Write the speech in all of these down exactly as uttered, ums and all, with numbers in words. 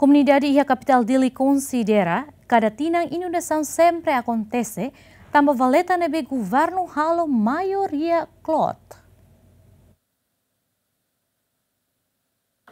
Komunidade iha kapitál Dili konsidera kada tinan inundasaun sempre akontese, tanba valeta ne'ebé governu halo maioria kloot.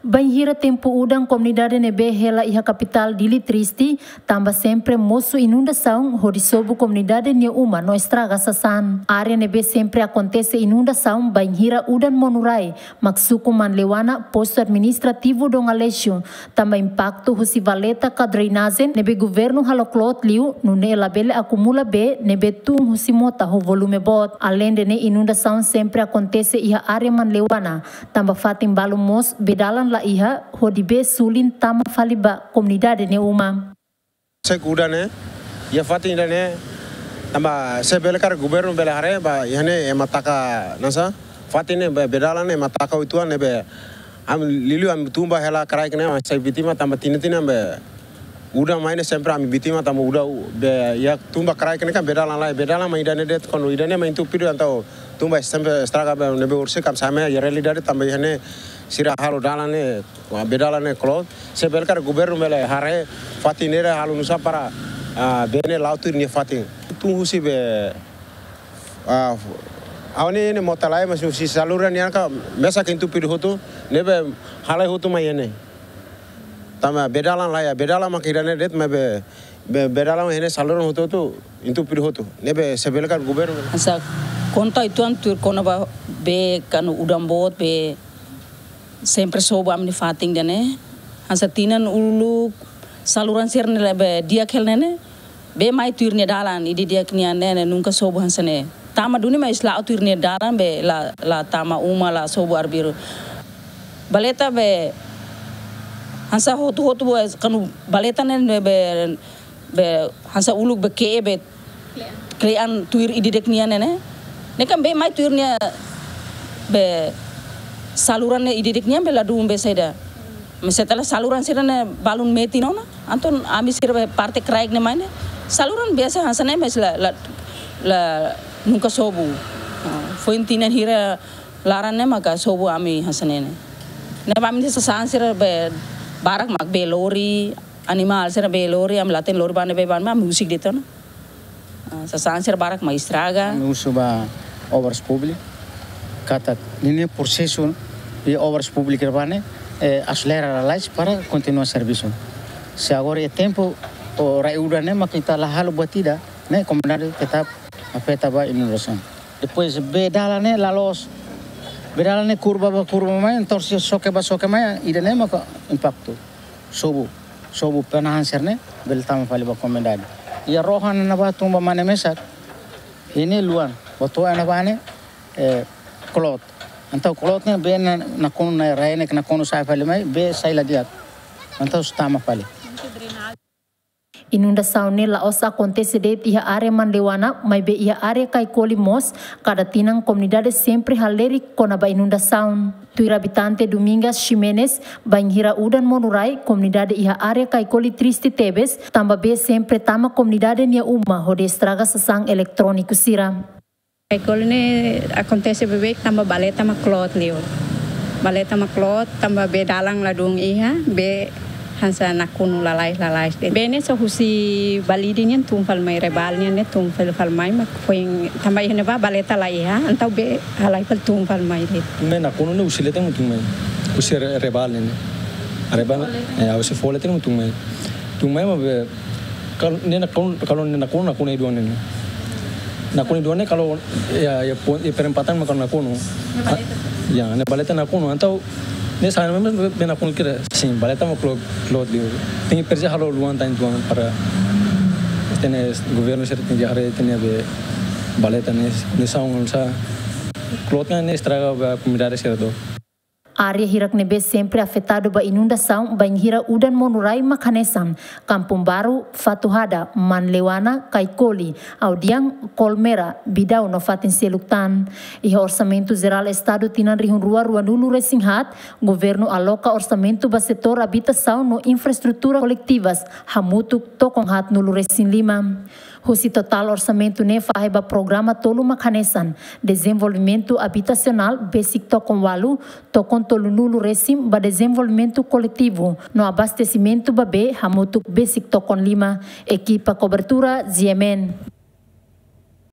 Bainhira tempu udan, komunidade ne'ebé hela iha kapitál Dili triste, tanba sempre mosu inundasaun hodi sobu komunidade nia uma no estraga sasán. Área ne'ebé sempre akontese inundasaun bainhira udan monu rai mak suku Manleuana, postu administrativu Dom Aleixo, tanba impaktu husi valeta ka drenajen ne'ebé governu halo kloot liu, nune'e labele akumula bee ne'ebé tun husi mota ho volume boot. Aleinde ne'e, inundasaun sempre akontese iha área Manleuana, tanba fatin balu mós bee dalan la iha hodi bee sulin tama fali ba komunidade nia uma. Sek udan ne'e, iha fatin ida-ne'e, tanba se bele karik governu bele haree ba iha ne'e ema taka nasa, fatin ne'e bee, bee dalan ne'e ema taka uitoan ne'ebé, ami liuliu ami tun ba hela kraik ne'e, ami sai vítima tanba tinan-tinan bee udan mai ne'e sempre ami vítima tanba udan u-, bee, iha tun ba kraik ne'e kan bee dalan lai, bee dalan mai ida-ne'e de'it, kuandu ida-ne'e mai entupidu entaun tun ba sempre estraga bee ne'ebé orsida ami sai mai iha realidade tanba iha ne'e sira halo dalan ne'e, ah, bee dalan ne'e kloot. Se bele karik governu bele haree fatin ne'e halo nusá para, ah, bee ne'e la'o tuir nia fatin. Tun husi bee, ah, awan ne'e mota lai, mas husi saluran nian ka mesak entupidu hotu, ne'ebé halai hotu mai iha ne'e. Tanba bee dalan lai, bee dalan mak ida-ne'e de'it, maibé bee, bee dalan iha ne'e saluran hotu-hotu entupidu hotu. Ne'ebé se bele karik governu. Hanesan konta uitoan tuir kona-ba bee kuandu udan boot bee sempre sobu ami-nia fatin ida-ne'e. Hanesan tinan uluk saluran sira-ne'e bee di'ak hela ne'e ne'e. Bee mai tuir nia dalan, ida di'ak nian ne'e, ne'e nunka sobu hanesan ne'e. Tama duni mais la'o tuir nia dalan bee la, la tama uma, la sobu arbiru. Valeta bee hanesan hotu-hotu bee kuandu valeta ne'e bee, bee hanesan uluk bee ke'e bee kle'an tuir ida di'ak nian ne'e ne'e. Ne'e kan bee mai tuir nia bee saluran ne'e ida di'ak nian bee ladún bee saida. Mas setelah saluran sira-ne'e balun metin ona, entaun ami sira bee parte kraik ne'e mai ne'e, saluran biasa hanesan ne'e mais la, la, la nunka sobu. Ah, foin tinan hira laran ne'e maka sobu ami hanesan ne'e ne'e. Ne'ebé ami sasán sira bee barak mak bee lori, animál sira bee lori, ami la hatene lori ba ne'ebé ba ne'ebé, ami husik de'it ona. Ah, sasán sira barak mak estraga. Ami husu ba Obras Públikas katak ninia prosesu iha Obras Públikas ba ne'e, eh, aselera lalais para kontinua servisu. Se agora iha tempu rai udan ne'e mak ita la halo buat ida, ne'e komunidade tetap afeta ba inundasaun. Depois bee dalan ne'e la loos, bee dalan ne'e kurva ba kurva mai, entaun se xoke ba xoke mai, ida-ne'e maka impaktu. Sobu, sobu penahan sira-ne'e bele tama fali ba komunidade. Iha rohan ne'ebá tun ba mane mesak, iha ne'e luan, ba to'o iha ne'ebá ne'e, eh, kloot. Entaun kloot ne'e bee ne'e nakonu, ne'e rai ne'e nakonu sa'e fali mai, bee sai la di'ak. Entaun sei tama fali. Inundasaun ne'e la'ós akontese de'it iha área Manleuana, maibé iha área Caicoli mós, kada tinan komunidade sempre halerik kona-ba inundasaun. Tuir abitante Domingas Ximenes, bainhira udan monu rai, komunidade iha área Caicoli triste tebes, tanba bee sempre tama komunidade nia uma hodi estraga sasán eletróniku sira. Caicoli ne'e akontese beibeik tanba valeta mak kloot liu. Valeta mak kloot tanba bee dalan ladún iha, bee hanesan nakonu lalais, lalais de'it. Bee ne'e só husi Balide nian tun fali mai, Rebal nian ne'e tun fali, fali mai, mak foin tanba iha ne'ebá valeta la iha, entaun bee halai fali tun fali mai de'it. Ne'e nakonu ne'e husi leten mak tun mai. Husi Re-, Rebal ne'e ne'e. Rebal, eh, husi Fo leten mak tun mai. Tun mai mak bee, kalau ne'e nakonu, kalau ne'e nakonu, nakonu iha duan ne'e. Nakonu iha duan ne'e kalau iha, iha pon-, iha perempatan mak nakonu. Ne'e valeta. Ah, ya, ne'e valeta nakonu. Entaun ne'e sai memang bee, bee nakonu kira. Sin, valeta mak kloot, kloot liu. Tenke presiza halo luan tan tuan para tenke governu sira tenke haree tenke bee valeta ne'e, ne'e sá, ne'e sá. Kloot ne'e estraga ba komunidade sira to'o. Área hirak ne'ebé sempre afetadu ba inundasaun bainhira udan monu rai mak hanesan Kampung Baru, Fatuhada, Manleuana, Caicoli, Audian, Colmera, Bidau no fatin seluk tan. Iha Orsamentu Jerál Estadu tinan rihun rua ruanulu resin haat, governu aloka orsamentu ba setór abitasaun no infraestrutura koletivas hamutuk tokon haatnulu resin lima. Husi totál orsamentu ne'e fahe ba programa tolu mak hanesan: dezenvolvimentu abitasionál besik tokon ualu, tokon tolunulu resin ba dezenvolvimentu koletivu, no abastesimentu ba bee hamutuk besik tokon lima. Ekipa kobertura, G M N.